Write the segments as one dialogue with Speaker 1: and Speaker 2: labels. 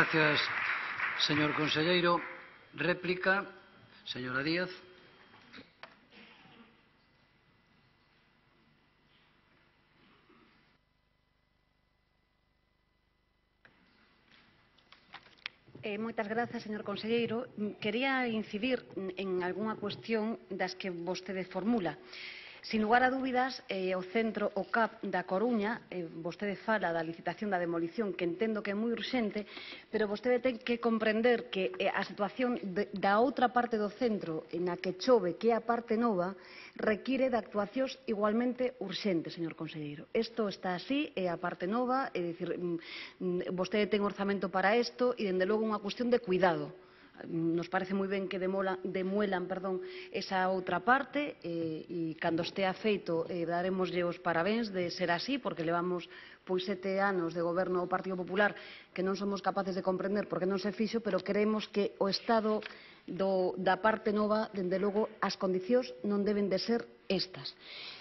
Speaker 1: Gracias, señor conselleiro. Réplica, señora Díaz.
Speaker 2: Moitas grazas, señor conselleiro. Quería incidir en algunha cuestión das que vostede formula. Sin lugar a dúbidas, o centro, o CAP da Coruña, vostede fala da licitación da demolición, que entendo que é moi urxente, pero vostede ten que comprender que a situación da outra parte do centro, na que chove, que é a parte nova, require de actuacións igualmente urxentes, señor conselleiro. Isto está así, é a parte nova, é dicir, vostede ten orzamento para isto e, dende logo, unha cuestión de cuidado. Nos parece moi ben que demuelan esa outra parte e cando estea feito daremoslle os parabéns de ser así, porque levamos 7 anos de goberno do Partido Popular que non somos capaces de comprender por que non se fixo, pero creemos que o estado da parte nova, dende logo, as condicións non deben de ser estas.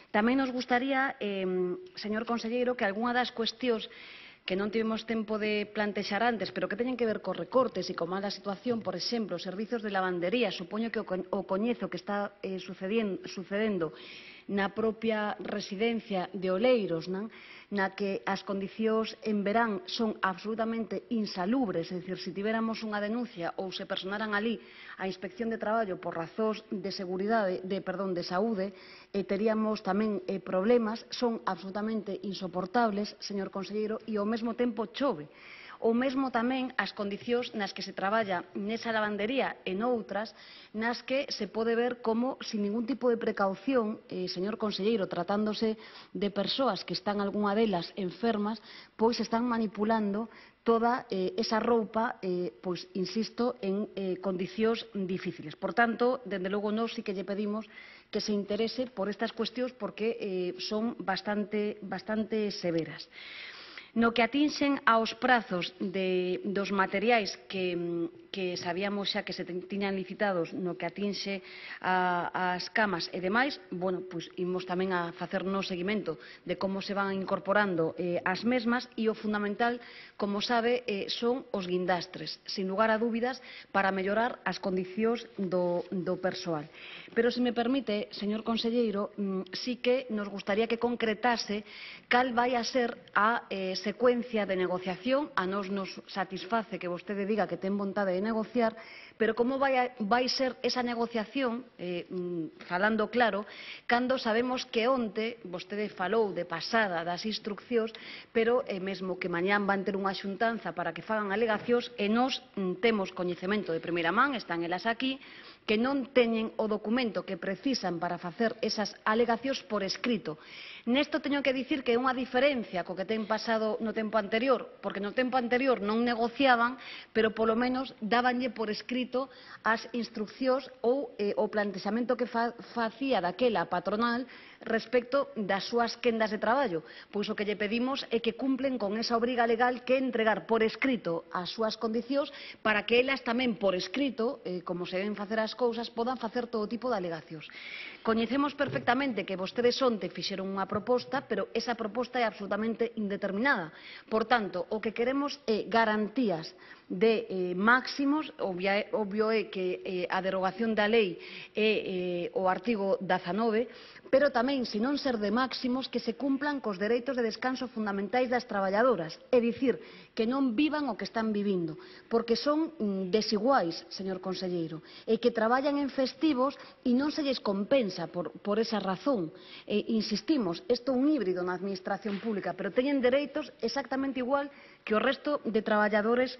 Speaker 2: Tamén nos gustaría, señor conselleiro, que algunha das cuestións que non tivemos tempo de plantexar antes, pero que teñen que ver cos recortes e con mala situación, por exemplo, os servizos de lavandería, supoño que o coñezo que está sucedendo na propia residencia de Oleiros, na que as condicións en verán son absolutamente insalubres, é dicir, se tivéramos unha denuncia ou se personaran ali a Inspección de Traballo por razóns de saúde, teríamos tamén problemas, son absolutamente insoportables, señor conselleiro, e ao mesmo tempo chove. Ou mesmo tamén as condicións nas que se traballa nesa lavandería e noutras, nas que se pode ver como, sin ningún tipo de precaución, señor conselleiro, tratándose de persoas que están algunha delas enfermas, pois están manipulando toda esa roupa, pois, insisto, en condicións difíciles. Por tanto, dende logo, nós sí que lle pedimos que se interese por estas cuestións porque son bastante severas. No que atinxen aos prazos dos materiais que sabíamos xa que se tiñan licitados, no que atinxe ás camas e demais, pois imos tamén a facernos seguimento de como se van incorporando as mesmas e o fundamental, como sabe, son os guindastres, sin lugar a dúbidas, para mellorar as condicións do persoal. Pero, se me permite, señor conselleiro, sí que nos gustaría que concretase cal vai a ser a secuencia de negociación. A nós nos satisface que vostede diga que ten vontade de negociar, pero como vai ser esa negociación, falando claro, cando sabemos que onte vostede falou de pasada das instruccións, pero mesmo que mañán van ter unha xuntanza para que fagan alegacións e nós temos coñecemento de primeira man, están elas aquí, que non teñen o documento que precisan para facer esas alegacións por escrito. Nesto teño que dicir que é unha diferencia co que ten pasado no tempo anterior, porque no tempo anterior non negociaban, pero polo menos dábanlle por escrito as instruccións ou o plantexamento que facía daquela patronal respecto das súas quendas de traballo. Pois o que lle pedimos é que cumplen con esa obriga legal que é entregar por escrito as súas condicións para que elas tamén por escrito, como se deben facer as cousas, podan facer todo tipo de alegacións. Coñecemos perfectamente que vostedes onte fixeron unha proposta, pero esa proposta é absolutamente indeterminada. Por tanto, o que queremos é garantías de máximos. Obvio é que a derogación da lei é o artigo 19, pero tamén, se non ser de máximos, que se cumplan cos dereitos de descanso fundamentais das traballadoras, é dicir, que non vivan o que están vivindo, porque son desiguais, señor conselleiro, e que traballan en festivos e non se lles compensa por esa razón. Insistimos, isto é un híbrido na administración pública, pero teñen dereitos exactamente igual que o resto de traballadores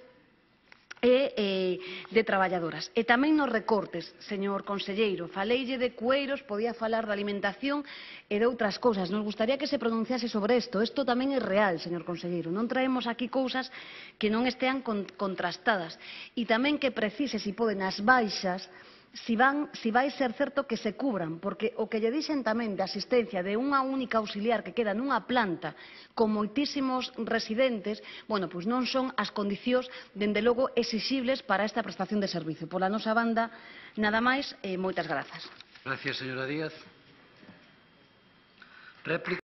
Speaker 2: e de traballadoras. E tamén nos recortes, señor conselleiro, faleille de cueiros, podía falar de alimentación e de outras cousas. Nos gustaría que se pronunciase sobre isto. Isto tamén é real, señor conselleiro. Non traemos aquí cousas que non estean contrastadas. E tamén que precise, se poden, as baixas, si vai ser certo que se cubran, porque o que lle dixen tamén de asistencia de unha única auxiliar que queda nunha planta con moitísimos residentes, pois non son as condicións, dende logo, exixibles para esta prestación de servizo. Pola nosa banda, nada máis, moitas grazas.
Speaker 1: Gracias, señora Díaz. Réplica.